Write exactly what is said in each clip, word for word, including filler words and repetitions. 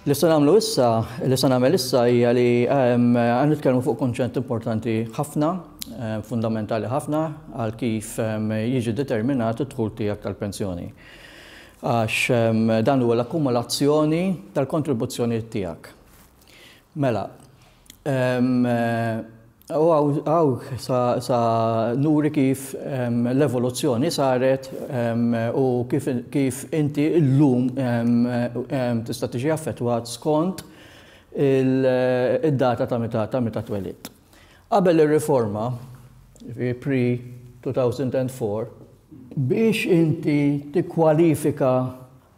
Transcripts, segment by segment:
Li se nagħmlu issa, li se nagħmel issa hija li għan nitkellmu fuq kunċett importanti ħafna, fundamentali ħafna għal kif jiġi determinat id-dħul tiegħek tal-pensjoni. Għax dan huwa l-akkumulazzjoni tal-kontribuzzjoni tiegħek. Mela, u hawn sa nuri kif l-evoluzzjoni saret u kif inti llum tista' tiġi affettwat skont id-data ta' meta ta' meta twelidt. Qabel ir-riforma, pre two thousand and four, biex inti tikkwalifika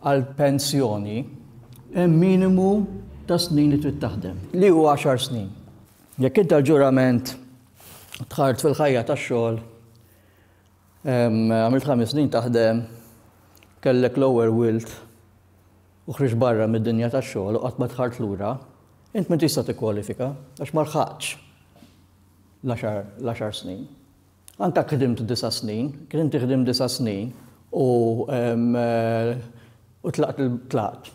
għal pensjoni, hemm minimu ta' snin li trid taħdem, li huwa għaxar snin. Jekk inti l-ġurament dħalt fil-ħajja tax-xogħol, għamilt ħames snin taħdem, kellek l-ewwel wild u ħriġt barra mid-dinja tax-xogħol u qatt ma dħalt lura, int ma tista' tikkwalifika għax ma lħaqtx l-għaxar snin. Anka ħdimt disa' snin, kien inti ħdimt disa' snin u u tlaqt tlaqt.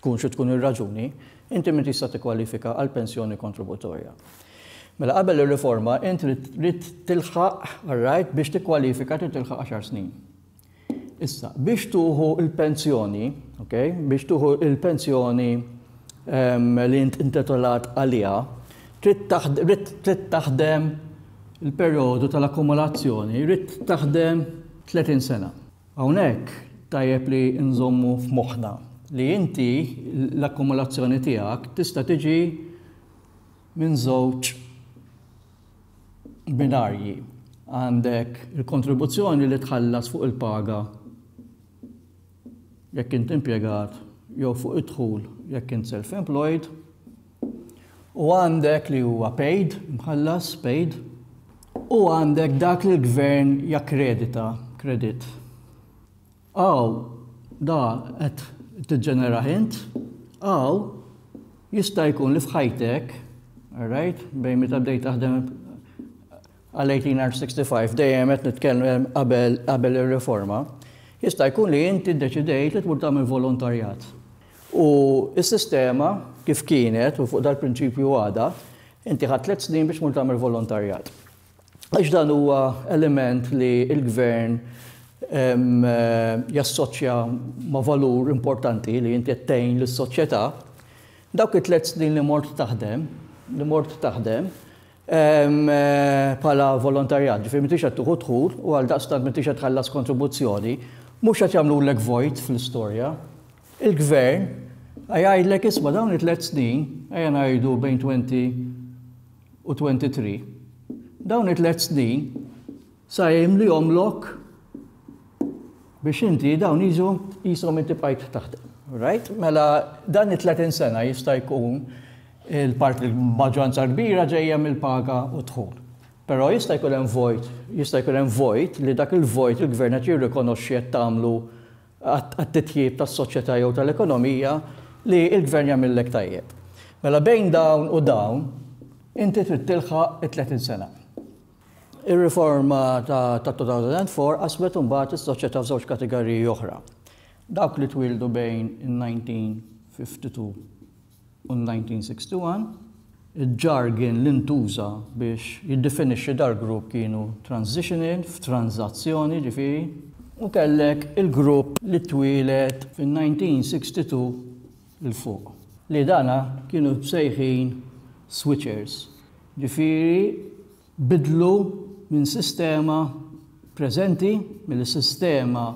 Tkun xi tkun ir-raġuni, inti min tista' tikkwalifika għal pensjoni kontributorja. Mela qabel ir-riforma inti trid tilħaq, right, biex tikkwalifika trid tilħaq għaxar snin. Issa, biex tieħu il-pensjoni, okay, biex tieħu il-pensjoni li int intitolat għaliha, trid taħdem il-perjodu tal-akkumulazzjoni, trid taħdem tletin sena. Hawnhekk tajjeb li nżommu f'moħħna li inti l-akkumulazzjoni tiegħek tista' tiġi minn żewġ binarji. Għandek il-kontribuzzjoni li tħallas fuq il-paga jekk int impjegat jew fuq id-dħul jekk int self-employed, u għandek li huwa paid, mħallas, paid, u għandek dak li l-gvern jakkredita, credit. Hawn, da qed tiġġenera int, hawn jista' jkun li f'ħajtek, right, bejn meta bdejt taħdem għal eighteen sixty-five, dejjem qed nitkellem qabel qabel ir-riforma, jista' jkun li inti ddeċidejt li tmur tagħmel volontarjat. U s-sistema kif kienet, u fuq dal-prinċipju għada, inti ħadt tliet snin biex tmur tagħmel volontarjat. Għax dan huwa element li l-gvern jassoċja ma' valur importanti li inti tgħin lis-soċjetà, dawk it-tliet snin li mort taħdem, li mort taħdem, bħala volontarjat, ġifieri m'intix qed tieħu dħul u għal daqstant m'intix qed tħallas kontribuzzjoni, mhux qed jagħmlulek vojt fl-istorja. Il-gvern jgħidlek, "Isma', dawn it-tliet snin, ejja ngħidu bejn għoxrin u tlieta u għoxrin, dawn it-tliet snin sa jimlihomlok biex inti dawn jiġu qishom inti bqajt taħdem." Right? Mela dan it-tletin sena jista' jkun il-parti l-maġġoranza kbira ġejja mill-paga u dħul. Però jista' jkun hemm vojt, jista' jkun hemm vojt li dak il-vojt il-gvern qed jirrikonoxxi qed tagħmlu għat-titjib tas-soċjetà jew tal-ekonomija li il-gvern jagħmillek tajjeb. Mela bejn dawn u dawn inti trid tilħaq it-tletin sena. Ir-riforma ta' elfejn u erbgħa qasmet imbagħad is-soċjetà f'żewġ kategoriji oħra. Dawk li twildu bejn il-elf disa' mija u tlieta u ħamsin u elf disa' mija u wieħed u sittin, il-jargon li ntuża biex jiddefinixxi dal-grupp kienu transitional, f'tranzazzjoni ġifieri, u kellek il-grupp li twieled fin-elf disa' mija u sitta u sittin 'il fuq. Li dana kienu msejħin switchers. Ġifieri bidlu minn sistema preżenti, mill-sistema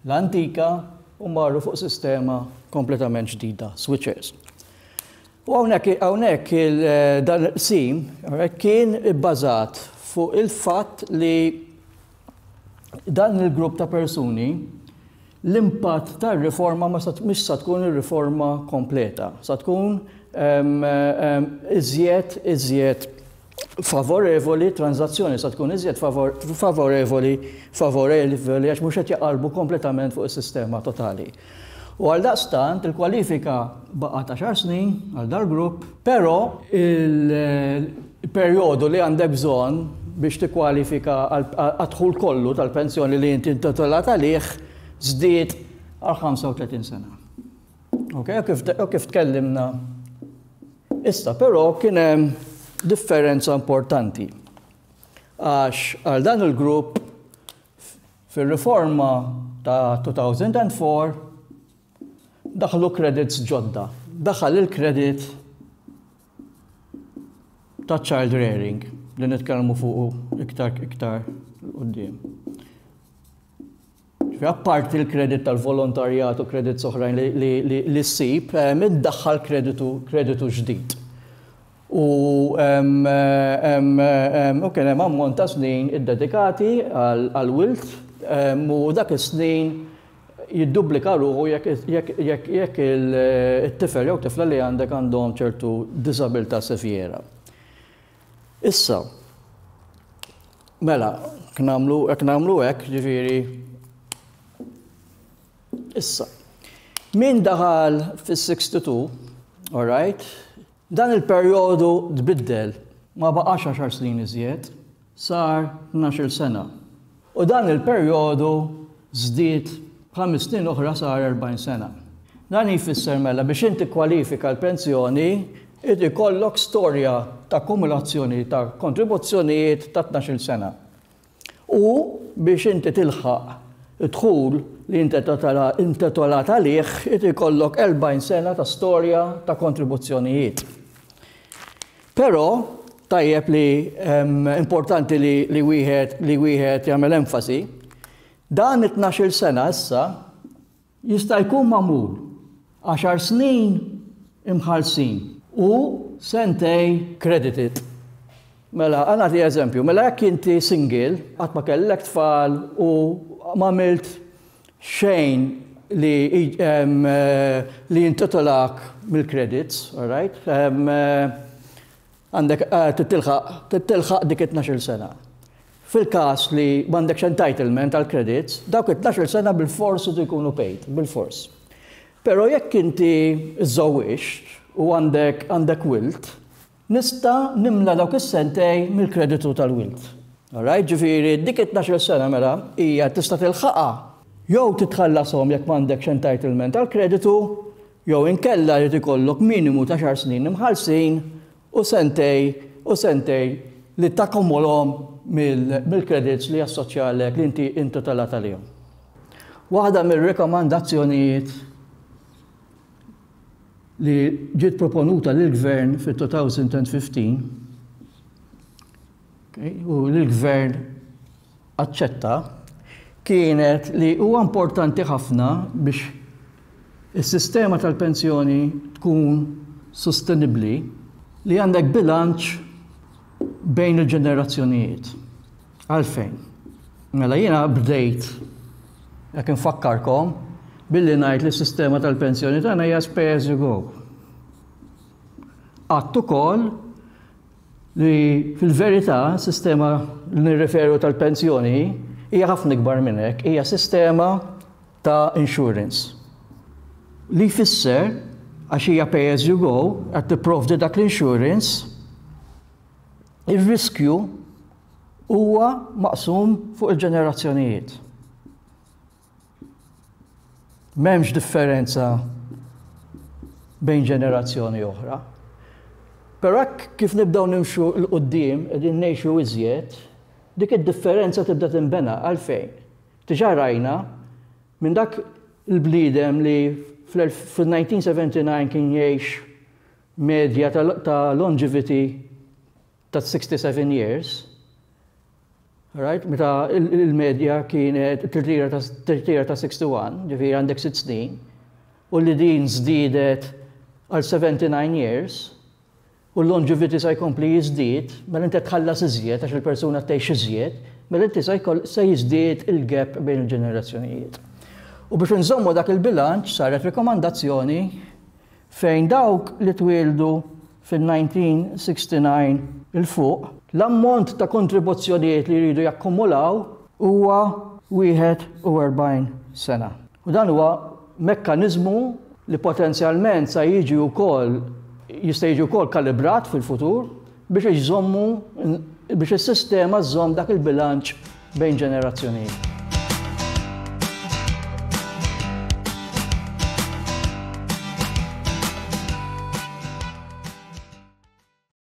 l-antika u marru fuq sistema kompletament ġdida, switchers. U hawnhekk hawnhekk dan il-qsim kien ibbażat fuq il-fatt li dan il-grupp ta' persuni l-impatt tar-riforma ma mhix sa tkun ir-riforma kompleta, sa tkun iżjed iżjed favorevoli, tranzazzjoni sa tkun iżjed favorevoli favorevoli għax mhux qed jaqalbu kompletament fuq is-sistema totali. U għal daqstant il-kwalifika baqgħet għaxar snin għal dal-grupp, però il-perjodu li għandek bżonn biex tikkwalifika għad-dħul kollu tal-pensjoni li inti intitolat għalih żdied għal ħamsa u tletin sena. Ok, u kif tkellimna. Issa, però kien hemm differenza importanti. Għax għal dan il-grupp fil-riforma ta' elfejn u erbgħa daħlu credits ġodda. Daħal il-credit ta' child rearing li nitkellmu fuq iktar iktar quddiem. Apparti il-kredit tal-volontarjat u credits oħrajn li, li ssib, iddaħħal kreditu, kreditu ġdid. U u kien hemm ammont ta' snin iddedikati għal-wild u dak is-snin jiddublika ruħu jekk il-tifel jew tifla li għandek għandhom ċertu disabilità severa. Issa, mela, jekk nagħmlu hekk, ġifieri, issa, min daħal fis-tnejn u sittin, all right, dan il-perjodu tbiddel, ma baqax għaxar snin iżjed, sar tnax-il sena. U dan il-perjodu żdied ħames snin oħra, sar erbgħin sena. Dan jfisser mela biex inti kwalifika l-pensjoni, irid ikollok storja ta' kumulazzjoni ta' kontribuzzjonijiet ta' tnax-il sena. U biex inti tilħaq id-dħul li inti intitolat għalih, irid ikollok erbgħin sena ta' storja ta' kontribuzzjonijiet. Però tajjeb li importanti li, li wieħed li wieħed jagħmel enfasi, dan it-tnax-il sena issa jista' jkun magħmul għaxar snin imħallsin u sentejn credited. Mela, ħa nagħti eżempju, mela jekk inti single, qatt ma kellek tfal u m'għamilt xejn li li jintitolak mill-credits, all right? Għandek eh, tilħaq dik it-tnax-il sena. Fil-kas li m'għandekx entitlement għal credits, dawk it-tnax-il sena bil-fors jkunu paid, bil-fors. Pero jekk inti żżewwiġt u għandek għandek wild, nista' nimla dawk is-sentejn mill-kreditu tal-wild. Alright, ġifieri, dik it-tnax-il sena mela hija tista' tilħaqha jew titħallasom jekk m'għandekx entitlement għal kreditu, jew inkella li ikollok minimu ta' għaxar snin imħallsin u sentejn u sentejn li takkumulhom mill-credits li jassoċjalek li inti intitolat għalihom. Waħda mill-rekomandazzjonijiet li ġiet proponuta lill-gvern fit-elfejn u ħmistax, u l-gvern aċċetta, kienet li huwa importanti ħafna biex is-sistema tal-pensjoni tkun sostenibli li għandek bilanċ bejn il-ġenerazzjonijiet. Għalfejn? Mela jiena bdejt, jekk infakkarkom, billi ngħid li s-sistema tal-pensjoni tagħna hija pay as you go. Għedt ukoll li fil-verità sistema li nirreferu tal-pensjoni hija ħafna ikbar minn hekk, hija sistema ta' insurance. Li jfisser, għax hija pay as you go, qed tipprovdi dak l-insurance, ir-riskju huwa maqsum fuq il-ġenerazzjonijiet. M'hemmx differenza bejn ġenerazzjoni oħra. Però hekk kif nibdew nimxu 'l quddiem, qegħdin ngħixu iżjed, dik id-differenza tibda tinbena. Għalfejn? Diġà rajna minn dak il-bniedem li fil-elf disa' mija u sebgħa u disgħin kien jgħix medja ta' longevity ta' sixty-seven years, right? Meta il-medja kienet tirtira ta' wieħed u sittin, ġifieri għandek sitt snin, u li din żdiedet għal seventy-nine years, u l-longevity sa jkompli jiżdied, mela inti tħallas iżjed għax il-persuna tgħix iżjed, mela inti se jiżdied il-gap bejn il-ġenerazzjonijiet. U biex nżommu dak il-bilanċ saret rekomandazzjoni fejn dawk li twildu fil-elf disa' mija u disgħa u sittin 'il fuq, l-ammont ta' kontribuzzjonijiet li jridu jakkumulaw huwa wieħed u erbgħin sena. U dan huwa mekkanizmu li potenzjalment sa jiġi wkoll jista' jiġi wkoll kalibrat fil-futur biex iżommu biex is-sistema żżomm dak il-bilanċ bejn ġenerazzjonijiet.